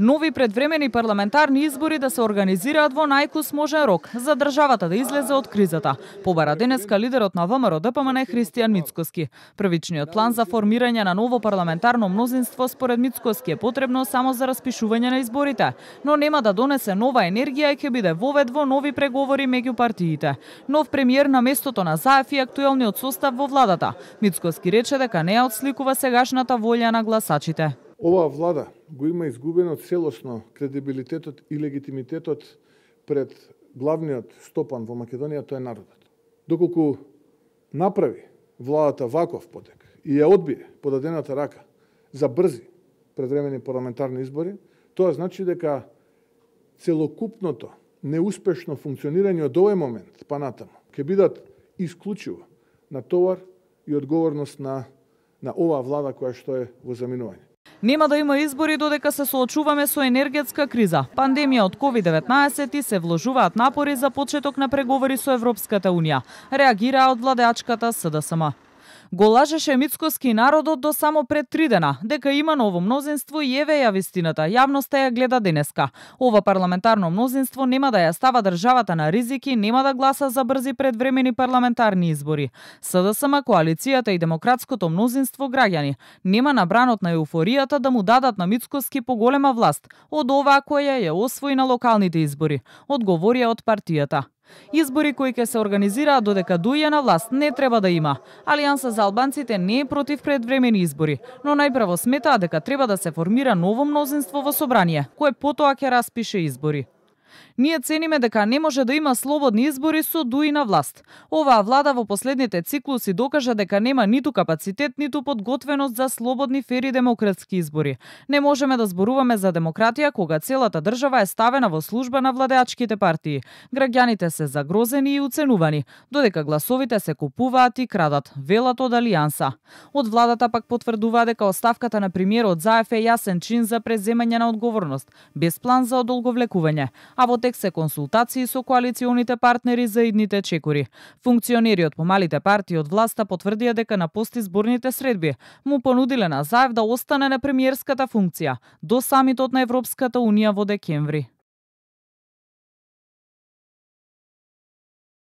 Нови предвремени парламентарни избори да се организираат во најкусможен рок за државата да излезе од кризата, побара денеска лидерот на ВМРО-ДПМН Христијан Мицкоски. Првичниот план за формирање на ново парламентарно мнозинство според Мицкоски е потребно само за распишување на изборите, но нема да донесе нова енергија и ќе биде вовед во нови преговори меѓу партиите. Нов премиер на местото на Заев и актуелниот состав во владата. Мицкоски рече дека не ја отсликува сегашната волја на гласачите. Оваа влада го има изгубено целосно кредибилитетот и легитимитетот пред главниот стопан во Македонија, тоа е народот. Доколку направи владата ваков потек и ја одбие подадената рака за брзи предвремени парламентарни избори, тоа значи дека целокупното неуспешно функционирање од овој момент па натаму ќе бидат исклучиво на товар и одговорност на оваа влада која што е во заминување. Нема да има избори додека се соочуваме со енергетска криза, пандемија од COVID-19 и се вложуваат напори за почеток на преговори со Европската Унија, реагираа од владеачката СДСМ. Го лажеше Мицкоски народот до само пред 3 дена, дека има ново мнозинство и еве ја вистината, јавноста ја гледа денеска. Ова парламентарно мнозинство нема да ја става државата на ризик и нема да гласа за брзи предвремени парламентарни избори. СДСМ, коалицијата и демократското мнозинство граѓани нема набранот на еуфоријата да му дадат на Мицкоски поголема власт од оваа која ја освои на локалните избори, одговорија од партијата. Избори кои ќе се организираат додека дојде на власт не треба да има. Алијанса за албанците не е против предвремени избори, но најпрво сметаа дека треба да се формира ново мнозинство во собрание, кое потоа ќе распише избори. Ние цениме дека не може да има слободни избори со дуи на власт. Оваа влада во последните циклуси докажа дека нема ниту капацитет, ниту подготвеност за слободни, фери демократски избори. Не можеме да зборуваме за демократија кога целата држава е ставена во служба на владеачките партии. Граѓаните се загрозени и уценувани, додека гласовите се купуваат и крадат, велат од Алијанса. Од владата пак потврдува дека оставката на премиерот Заев е јасен чин за преземање на одговорност, без план за одолговлекување, а во тек се консултации со коалиционите партнери за идните чекори. Функционери од помалите партии од власта потврдија дека на постизборните средби му понудиле на Заев да остане на премиерската функција до самитот на Европската Унија во декември.